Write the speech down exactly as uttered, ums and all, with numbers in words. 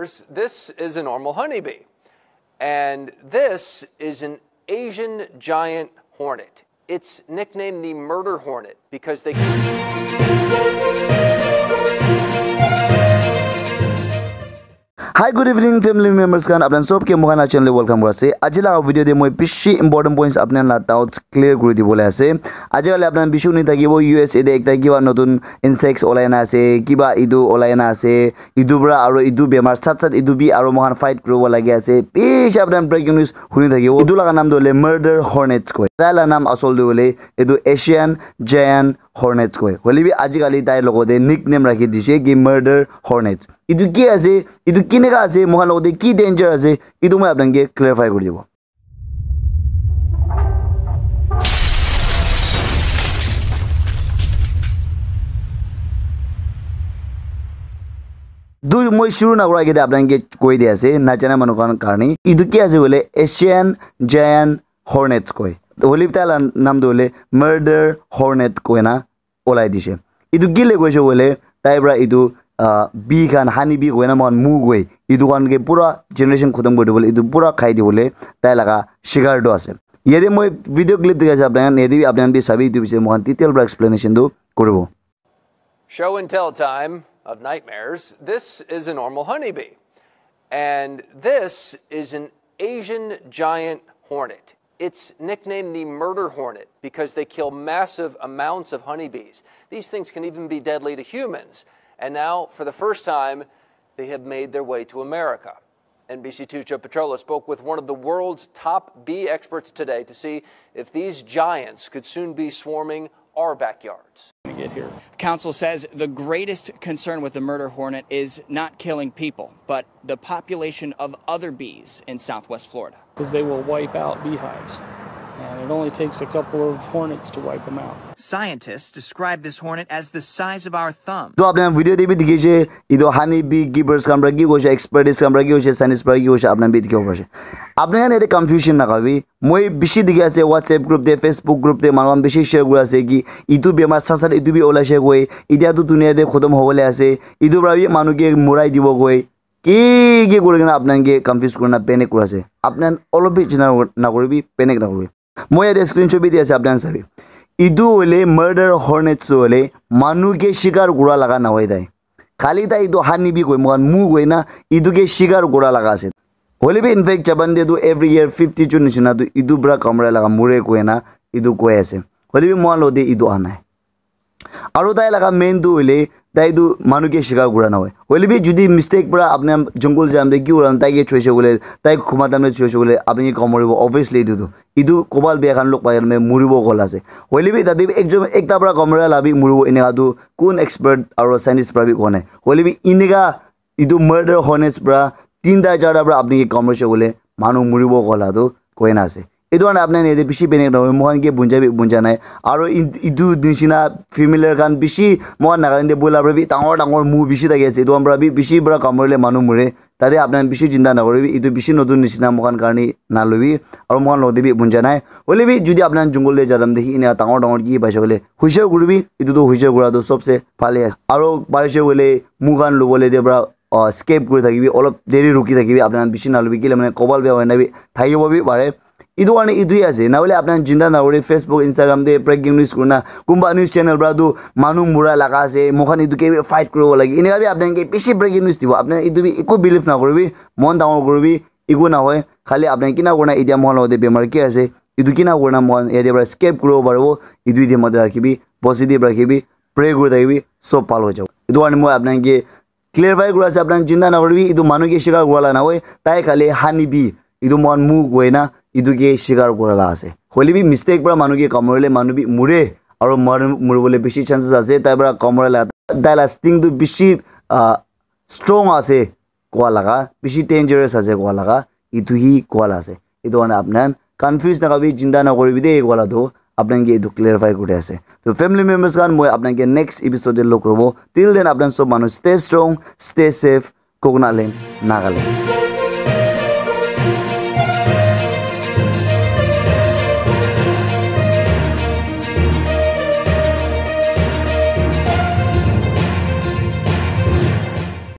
This is a normal honeybee. And this is an Asian giant hornet. It's nicknamed the murder hornet because they Hi, good evening, family members khan. Apnan sob ke moikhan la channel te welcome kuri ase. Aji laga video te moi bishi important points apnan la doubts clear kuri dibole ase. Aji kali apnan bishi huni thakibo U S A te ekta kiba notun insects olai na ase, kiba idu olai na ase, idu pra aro idu bemar sat sat idu bi aro moikhan fight kuribo lagi ase. Bishi apnan breaking news huni thakibo. Idu laga naam tu hoile murder hornets koi. Tai la naam asol tu hoile idu Asian giant hornets koi. Hoile bi aji kali tai logote nickname rakhi dise ki murder hornets. Etu ki ase, etu kineka ase, moikhan logote ki danger ase, etu moi apnanke clarify kuri dibo. Du moi shuru na kura agete apnanke koi di ase, najana manu khan karne. Etu ki ase hoile Asian giant hornets koi. Hoile bi tai la naam tu hoile murder hornet koi na olai dise. Etu kile koise koile tai pra etu ah, bee khan, honey bee koina moikhan mu koi, etu khan ke pura generation khotom kuri dibole, etu pura khai dibole tai laga shikar tu ase. Yate moi video clip dikhai ase apnai khan, yate bi apnai khan bi sabi, etu bishe moikhan detail pra explanation tu kuribo. Show and tell time of nightmares. This is a normal honeybee. And this is an Asian giant hornet. It's nicknamed the murder hornet because they kill massive amounts of honeybees. These things can even be deadly to humans. And now, for the first time, they have made their way to America. N B C two's Joe Petrella spoke with one of the world's top bee experts today to see if these giants could soon be swarming our backyards. Get here. Council says the greatest concern with the murder hornet is not killing people, but the population of other bees in southwest Florida. Because they will wipe out beehives. And it only takes a couple of hornets to wipe them out. Scientists describe this hornet as the size of our thumb. To apni khan video te bi dikhi ase, etu honey bee keepers khan pra ki koise, experts khan pra ki koise, scientists pra ki koise, apni khan bi dikhibo pari ase. Apni khan yate confusion nakabi. Moi bishi dikhi ase WhatsApp group te, Facebook group te, manu khan bishi share kuri ase ki etu bemar sat sat etu bi olai se koi, etia tu dunia te khotom hobole ase, etu pra bi manu ke murai dibo koi, ki ki kuri kena apni khan ke confuse kuri na panic kuri ase. Apni khan olop bi chinta nakuri bi, panic nakuri bi. Moi yate screenshot bi di ase, apni khan sabi. Etu hoile murder hornets tu hoile manu ke shikar kura laga nahoi tai. Khali tai etu honey bee koi, moikhan mu koi na etu ke shikar kura laga ase. Hoile bi in fact Japan te tu every year fifty jon nishina tu etu pra kamra laga mure koi na etu koi ase. Hoile bi moikhan logote etu aha nai. Aro tai laga main tu hoile tai tu manu ke shikar kura nahoi. Hoile bi jodi mistake pra apni jungle jam te ki kura tai ke choise koile, tai khuma time te choise koile apni ke kamuribo, obviously etu tu. Etu kobal bia khan log pai kena muribo kola ase. Hoile bi tate bi ekjon ekta pra kamura la bi muribo, eneka tu kun expert aro scientist pra bi koa nai. Hoile bi eneka etu murder hornets pra tinta charta pra apni ke kamurise koile manu muribo kola tu koi na ase. Etu karne apni khan yate bishi panic nahoi, moikhan ke bunja bi bunja nai. Aro in-, etu nishina familiar khan bishi moikhan Nagaland te bola pra bi dangor dangor mu bishi thaki ase. Etu khan pra bi bishi pra kamurile manu mure. Tate apni khan bishi chinta nakuribi, etu bishi notun nishina moikhan karne nalobi, aro moikhan logote bi bunja nai. Hoile bi jodi apni khan jungle te ja time te hi ena dangor dangor ki paise koile, hushar kuribi, etu tu hushar kura tu sobse bhale ase. Aro parise koile mu khan lobole te pra, ah, skip kuri thakibi, olop deri ruki thakibi, apni khan bishi nalobi, kile mane kobal bia hoina bi thakibo bi pare. Etu karne etu hi ase, nahole apni khan chinta nakuri, Facebook, Instagram te breaking news kurina, kunba news channel pra tu manu mura laga ase, moikhan etu ke bi fight kuribo lage, eneka bi apni khan ke bishi breaking news dibo, apni khan etu bi eku believe nakuribi, mon dangor kuribi, eku nahoi, khali apni khan kina kurina etia moikhan logote bemar ki ase, etu kina kurina moikhan yate pra escape kuribo paribo, etu yate mate rakhibi, positive rakhibi, pray kuri thakibi, sob bhal hoi jabo. Etu karne moi apni khan ke clarify kuri ase, apni khan chinta nakuribi, etu manu ke shikar kura la nahoi, tai khali honey bee, etu moikhan mu koi na, etu ke shikar kura la ase. Hoile bi mistake pra manu ke kamurile manu bi mure, aro manu muribole bishi chances ase, tai pra kamura la, tai la sting tu bishi, ah, strong ase koa laga, bishi dangerous ase koa laga, etu hi koa la ase. Etu karne apni khan confuse nakabi, chinta nakuribi de koa la tu, apni khan ke etu clarify kuri ase. To family members khan, moi apni khan ke next episode te log kuribo. Till then, apni khan sob manu stay strong, stay safe, Coconut Land, Nagaland.